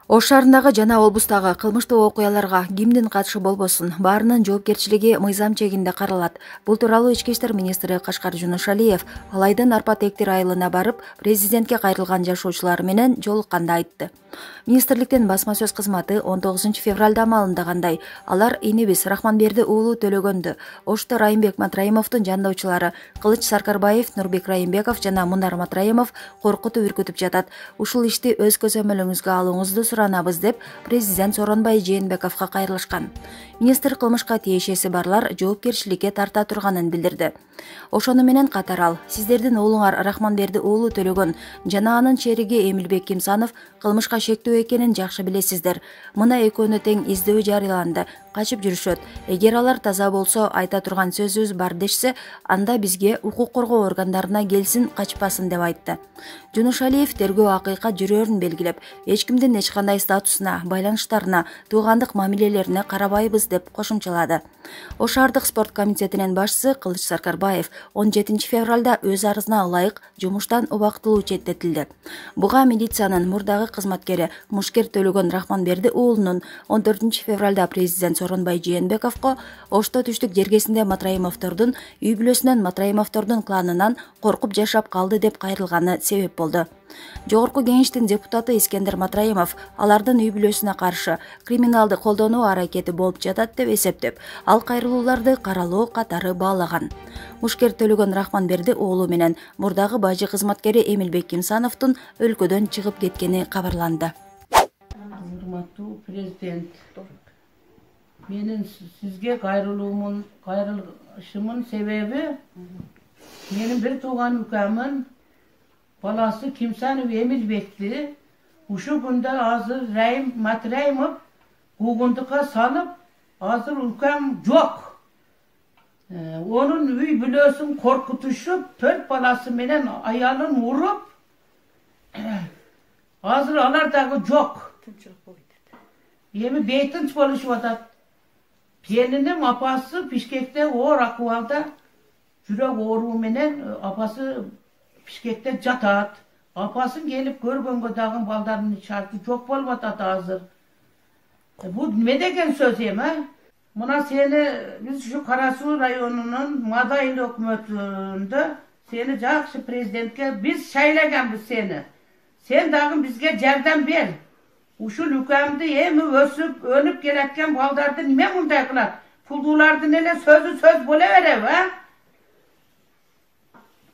Ош шаарындагы жана облустагы кылмыштуу окуяларга кимдин катышы болбосун, баарынын жоопкерчилиги мыйзам чегинде каралат. Бул тууралуу Ички иштер министри Кашкар Жунушалиев ал айдын Арпа-Тектир айылына барып, президентке кайрылган жашоочулар менен жолукканда айтты. Министрликтин басма сөз кызматы 19 февралда маалымдагандай, алар инибиз Рахманберди уулу Төлөгөндү Ошто Райымбек Матраимовдун жанdoочулары Кылыч Саркарбаев, Нурбек Райымбеков жана Мунар Матраимов коркутуп үркүтүп жатат. Ушул ишти өз көзөмөлүңүзгө алууңузду суранабыз деп президент Сооронбай Жээнбековго кайрылышкан. Министр кылмышка тиешеси барлар жоопкерчиликке тарта турганын билдирди. Ошону менен катар ал, сиздердин уулуңар Рахманберди уулу Төлөгөн жана анын чериги Эмилбек Кимсанов кылмышка шектүү экенин жакшы билесиздер. Мына экөөнү тең издөө жарыяланды, качып жүрүшөт. Эгер алар таза болсо, айта турган сөзүбүз бар дешсе, анда бизге укук коргоо органдарына келсин, качпасын деп айтты. Жунушалиев тергөө акыйкат жүрөөрүн белгилеп, эч кимдин эч кандай статусуна, байланыштарына, туугандык мамилелерине карабайбыз деп кошумчалады. Ош шаардык спорт комитетинин башчысы Кылыч Саркарбаев 17 февралда өз арызына ылайык жумуштан убактылуу четтетилди. Буга милициянын мурдагы кызматкери Мушкер Төлөгөн Рахманберди уулунун 14 февралда президент Сооронбай Жээнбековго Ошто түштүк жергесинде Матраимовдордун үй бүлөсүнөн Матраимовдордун кланынан коркуп жашап калды деп кайрылганы себеп болду. Жогорку кеңештин депутаты Искендер Матраимов алардын үй бүлөсүнө каршы криминалды колдонуу аракети болуп жатат деп эсептеп, ал кайрылууларды каралоо катары баалаган. Мушкер Төлөгөн Рахманберди уулу менен мурдагы бажы кызматкери Эмилбек Кимсановдун өлкөдөн чыгып кеткени кабарланды. Урматтуу президент, менин сизге кайрылышымын себеби менин бир тууган укамын баласы Кимсанов Эмилбекти ушу күндө азыр Райым Матраимов куугундукка салып, азыр укам жок. Онун үй бүлөсүн коркутушуп, 4 баласы менен аялын уруп, азыр алар дагы жок. Эми бейтинч болушуп атат. Келиним апасы Бишкекте оор акыбалда жүрөк ооруу менен апасы Бишкекте жатат. Апасын келип көргөнгө дагы балдардын шарты жок болуп атат азыр. Бул неме деген сөз эми? Мына сени биз ушу Кара Суу районунун Мадайыл өкмөтүндө сени жакшы президентке биз шайлаганбыз сени. Сен дагы бизге жардам бер. Ушул укамды эми өсүп, өнүп келаткан балдарды неме мындай кылат? Пулдуулардын эле сөзү сөз боло береби, а?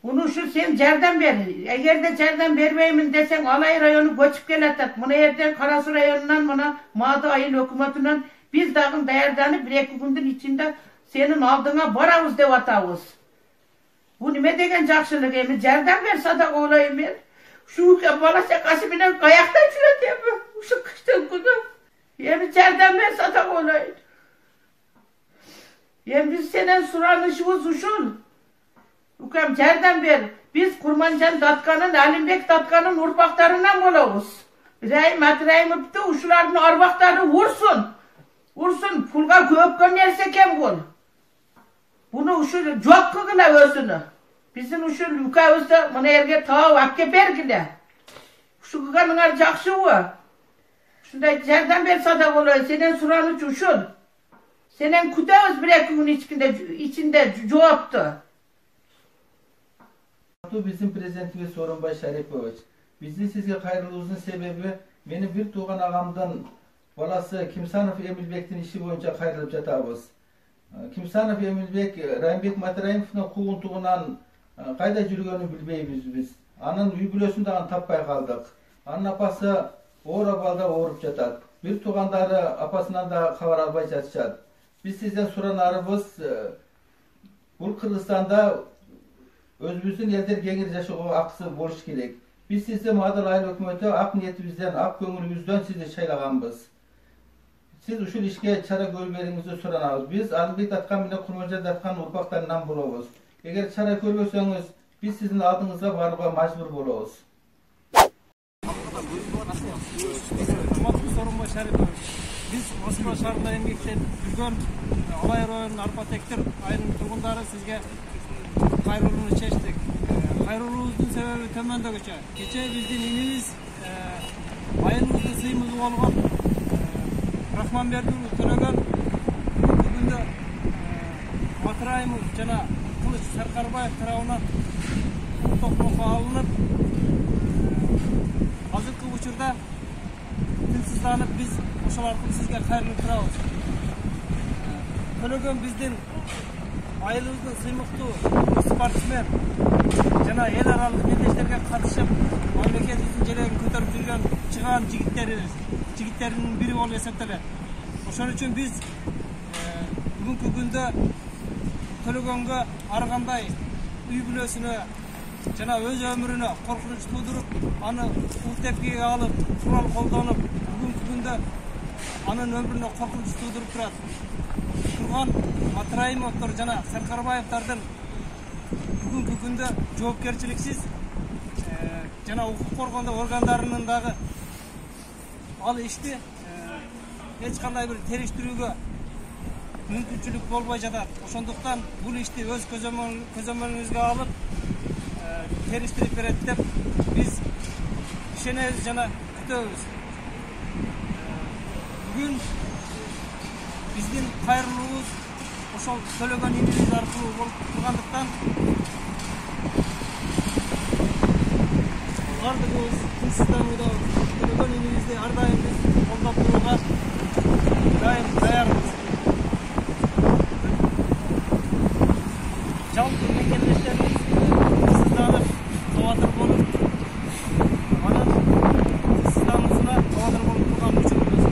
Уну ушул сен жардам бер. Эгерде жардам бербеймин десең, Алай району көчүп келатат. Мына эртең Кара Суу районунан мына Мадайыл өкмөтүнөн биз дагы даярданып 1-2 күндүн ичинде сенин алдыңа барабыз деп атабыз. Бул неме деген жакшылык эми? Жардам берсе да ойлойм мен. Ушу бала чакасы менен каякта жүрөт эми? Ушу кыштын күнү. Эми жардам берсе да ойлойм. Эми биз сенен суранышыбыз ушул. Укам жардам бер. Биз Курманжан Датканын, Алимбек Датканын урпактарынан болобуз. Райым Матраимовду ушулардын арбактары урсун. Урсун, пулга көпкөн нерсе экен бул. Буну ушул жок кылгыла өзүнө. Биздин ушул укабызды мына жерге таап алып бергиле. Ушу кылганыңар жакшыбы? Ушундай жардам берсе да болот. Сенен сураныч ушул. Сенен күтөбүз 1-2 күн ичинде жоопту. Биздин президентибиз Сооронбай Шарипович, биздин сизге кайрылуубуздун себеби менин бир тууган агамдын баласы Кимсанов Эмилбектин иши боюнча кайрылып жатабыз. Кимсанов Эмилбек Райымбек Матраимовдун куугунтугунан кайда жүргөнүн билбейбиз биз. Анын үй бүлөсүн дагы таппай калдык. Анын апасы оор абалда ооруп жатат. Бир туугандары апасынан да кабар албай жатышат. Биз сизден суранарыбыз, бул Кыргызстанда өзүбүздүн элдер кеңири жашоого акысы болуш керек. Биз сизди Мадайыл айыл өкмөтү ак ниетибизден, ак көңүлүбүздөн сизди шайлаганбыз. Сиз ушул ишке чара көрүп бериңизди суранабыз. Биз Алимбек Даткан менен Курманжан Даткан урпактарынан болобуз. Эгер чара көрбөсөңүз, биз сиздин алдыңызга барууга мажбур болобуз. Сооронбай Шарипович, биз Москва шаарында эмгектеп жүргөн Алай районунун Арпа-Тектир айылынын тургундары сизге кайрылууну чечтик. Кайрылуубуздун себеби төмөндөгүчө. Кечээ биздин инибиз айылыбыздын сыйымызы болгон Рахманбердиевич төлөгөн бүгүндө Матраимов жана Кылыч Саркарбаев тарабынан токмокко алынып, азыркы учурда тынчсызданып биз ошол аркылуу сизге кайрылып турабыз. Төлөгөн биздин айылыбыздын сыймыктуу спортсмен жана эл аралык мелдештерге катышып, мамлекетибиздин желегин көтөрүп жүргөн чыгаан жигиттердин бири болуп эсептелет. Ошон үчүн биз бүгүнкү күндө Төлөгөнгө ар кандай үй бүлөсүнө жана өз өмүрүнө коркунуч туудуруп, аны ул тепкиге алып, курал колдонуп, бүгүнкү күндө анын өмүрүнө коркунуч туудуруп турат. Турган Матраимовдор жана Саркарбаевдардын бүгүнкү күндө жоопкерчиликсиз жана укук коргондоо органдарынын дагы ал ишти эч кандай бир териштирүүгө мүмкүнчүлүк болбой жатат. Ошондуктан бул ишти өз көзөмөлүңүзгө алып териштирип берет деп биз ишенебиз жана күтөбүз. Бүгүн биздин кайрылуубуз ошол төлөгөн инибиз аркылуу болуп тургандыктан бардыгыбыз тынчсызданууда төлөгөн инибизди ар дайым биз колдоп турууга дайым даярбыз. Жалпы мекемелештерибиз тынчсызданып, кабатыр болуп, анын тынчсыздануусуна кабатыр болуп турган учурубуз.